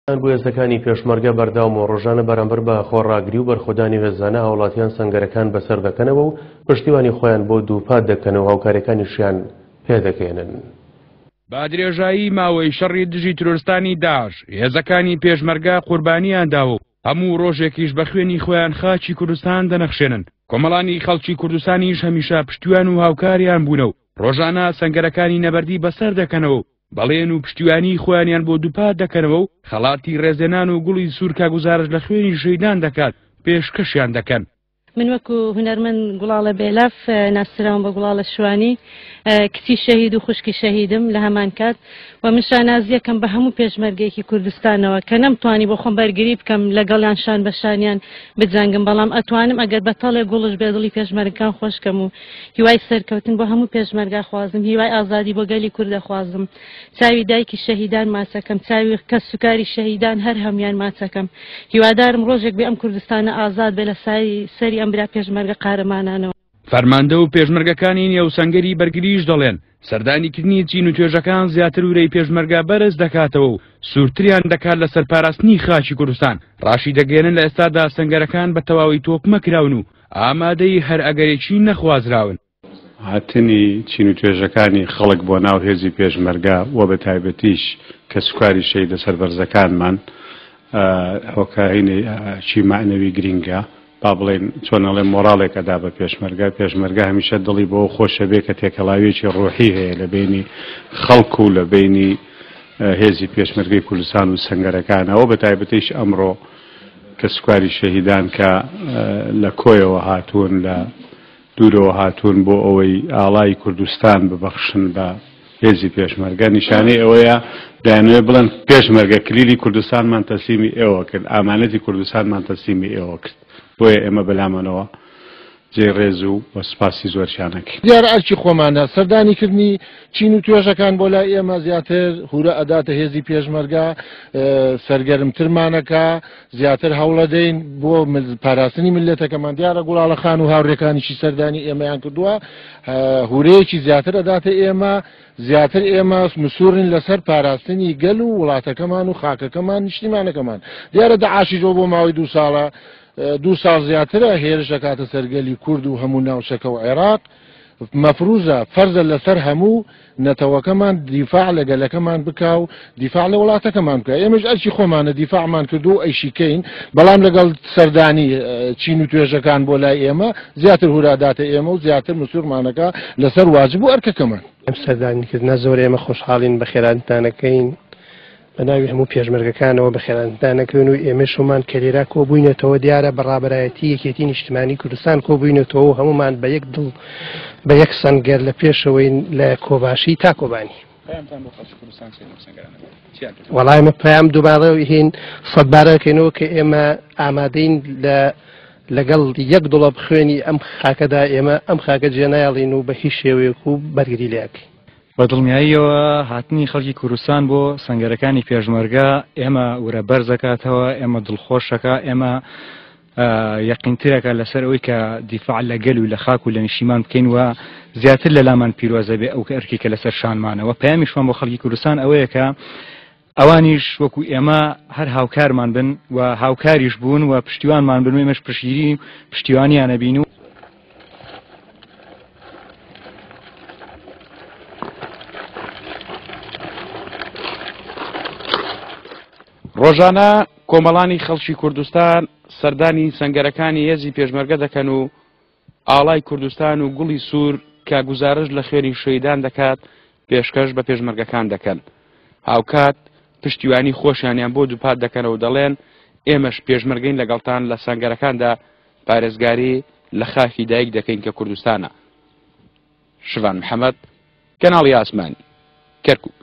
بۆ هێزەکانی پێشمەرگە بەردەوام و ڕۆژانە بەرامبەر بە خۆڕاگری و بەرخۆدانی هێزانە هاوڵاتیان سەنگەرەکان بەسەر دەکەنەوە و پشتیوانی خۆیان بۆ دووپات دەکەن و هاوکاریەکانیشیان پێدەگەیەنن. بە درێژایی ماوەی شەڕی دژی تیرۆرستانی داعش، هێزەکانی پێشمەرگە قوربانییان داوە و هەموو ڕۆژێکیش بە خوێنی خۆیان خاکی کوردستان دەنەخشێنن، کۆمەڵانی خەڵکی کوردستانیش هەمیشە پشتیوان و هاوکاریان بوونە و ڕۆژانە سەنگەرەکانی نەبەردی بەسەر دەکەنەوە و بەڵێن و پشتیوانیی خۆیانیان بۆ دووپات دەکەنەوە و خەڵاتی ڕێزلێنان و گوڵی سوور کە گوزارش لە خوێنی شەهیدان دەکات پێشکەشیان دەکەن. من وەکو هونەرمەند گوڵاڵە بێلاف ناسراوم بە گوڵاڵە شوانی، کچی شەهید و خوشکی شەهیدم لە هەمان کات و من شانازیەکەم بە هەموو پێشمەرگەیەکی کوردستانەوە کە نەمتوانی بۆ خۆم بەرگری بکەم لەگەڵیان شان بە شانیان بجەنگم بەڵام ئەتوانم ئەگەر بە تەڵێ گوڵش بێ دڵی پێشمەرگەکان خۆشکەم و هیوای سەرکەوتن بۆ هەموو پێشمەرگە خوازم، هیوای ئازادی بۆ گەلی کورد ئەخوازم، چاوی دایکی شەهیدان ماچەکەم، چاوی کەسوکاری شەهیدان هەر هەموویان ماچەکەم، هیوادارم ڕۆژێک بێ ئەم کوردستانە ئازاد بێ لە سایەی سەری ئەم برا پێشمەرگە قارەمانانەوە. فەرماندە و پێشمەرگەکانی نێو سەنگەری بەرگریش دەڵێن، سەردانیکردنی چین و توێژەکان زیاتر ورەی پێشمەرگە بەرز دەکاتەوە و سوورتریان دەکات لەسەر پاراستنی خاکی کوردستان، ڕاشیدەگەیەنن لە ئێستادا سەنگەرەکان بە تەواوی تۆکمە کراون و ئامادەی هەر ئەگەرێکی نەخوازراون. هاتنی چین و توێژەکانی خەڵک بۆ ناو هێزی پێشمەرگە و بە تایبەتیش کەسوکاری شەهیدە سەربەرزەکانمان هۆکارێکی مەعنەوی گرینگە. با بڵێین چۆن ئەڵێم مۆراڵێک ئەدا بە پێشمەرگە. پێشمەرگە هەمیشە دڵی بەوە خۆشە بێ کە تێکەڵاوییەکی ڕوحی هەیە لە بەینی خەڵک و لە بەینی هێزی پێشمەرگەی کوردستان و سەنگەرەکانەوە بە تایبەتیش ئەمڕۆ کەسوکاری شەهیدان کە لە کۆیەوە هاتوون، لە دوورەوە هاتوون بۆ ئەوەی ئاڵای کوردستان ببەخشن بە هێزی پێشمەرگە، نیشانەی ئەوەیە دەیانەوێت بڵێن پێشمەرگە کلیلی کوردستانمان تەسلیمی ئێوە کرد، ئامانەتی کوردستانمان تەسلیمی ئێوە کرد، بۆیە ئێمە بەلامانەوە جێی ڕێز و سوپاسی زۆرشیان ئەکەین. دیارە ئەرکی خۆمانە سەردانی کردنی چین و توێژەکان بۆ لای ئێمە زیاتر هورە ئەداتە هێزی پێشمەرگە، سەرگەرمترمانەکا، زیاتر هەوڵەدەین بۆ پاراستنی میللەتەکەمان. دیارە گوڵاڵە خان و هاوڕێکانیشی سەردانی ئێمەیان کردووە، هورەیەکی زیاتر ئەداتە ئێمە، زیاتر ئێمە مسوورین لەسەر پاراستنی گەل و وڵاتەکەمان و خاکەکەمان، نیشتیمانەکەمان. دیارە دەعاشیش بۆ ماوەی دوو ساڵە، دوو ساڵ زیاترە هێرش دەکاتە سەر گەلی کورد و هەموو ناوچەکە و عێراق، مەفروزە، فەرزە لەسەر هەموو نەتەوەکەمان دیفاع لە گەلەکەمان بکا و دیفاع لە وڵاتەکەمان بکا. ئێمەش ئەرکی خۆمانە دیفاعمان کردو و ئەیشیکەین، بەڵام لەگەڵ سەردانی چین و توێژەکان بۆ لای ئێمە زیاتر هوراداتە ئێمە و زیاتر مسوورمانەکە لەسەر واجب و ئەرکەکەمان. ئەم سەردانیکردنە زۆر ئێمە خۆشحاڵین، بەخێراتانەکەین. بە ناوی هەموو پێشمەرگەکانەوە بەخێراتان ئەکەین و ئێمەش هەموومان کە لێرە کۆبووینەتەوە دیارە بە ڕابەرایەتی یەکێتی نیشتمانی کوردستان کۆبووینەتەوە و هەموومان بە یەک دڵ بە یەک سەنگەر لە پێشەوەین لە کۆباشی تا کۆبانی. پەیامتان بۆ خەڵکی کوردستان چییە لەم سەنگەرانەدا؟ چیان پێ دەڵێن؟ وەڵا ئێمە پەیام دووبارە هین سەدبارە دەکەینەوە کە ئێمە ئامادەین لە لەگەڵ یەک دڵۆپ خوێنی ئەم خاکەدا ئێمە ئەم خاکە جێنایەڵین و بە هیچ شێوەیەک و بەرگری لێ ئەکەین. بە دڵنیاییەوە هاتنی خەڵکی کوردستان بۆ سەنگەرەکانی پێشمەرگە ئێمە ورە بەرز دەکاتەوە، ئێمە دڵخۆش دەکا، ئێمە یەقینترەکە لەسەر ئەوەی کە دیفاع لە گەل و لە خاک و لە نیشتیمان بکەین و زیاتر لە لامان پیرۆزە بێ ئەو ئەرکی کە لەسەر شانمانەوە. پەیامیشمان بۆ خەڵکی کوردستان ئەوەیە کە ئەوانیش وەکو ئێمە هەر هاوکارمان بن و هاوکاریش بوون و پشتیوانمان بن و ئێمەش پشتگیری و پشتیوانیانە بین و ڕۆژانە کۆمەڵانی خەڵکی کوردستان سەردانی سەنگەرەکانی هێزی پێشمەرگە دەکەن و ئاڵای کوردستان و گوڵی سوور کە گوزارشت لە خوێنی شەهیدان دەکات پێشکەش بە پێشمەرگەکان دەکەن. هاوکات پشتیوانی خۆشیانیان بۆ دووپات دەکەنەوە و دەڵێن ئێمەش پێشمەرگەین لەگەڵتان لە سەنگەرەکاندا پارێزگاری لە خاکی دایک دەکەین کە کوردستانە. شڤان محەمەد، کەناڵی ئاسمانی، کەرکوک.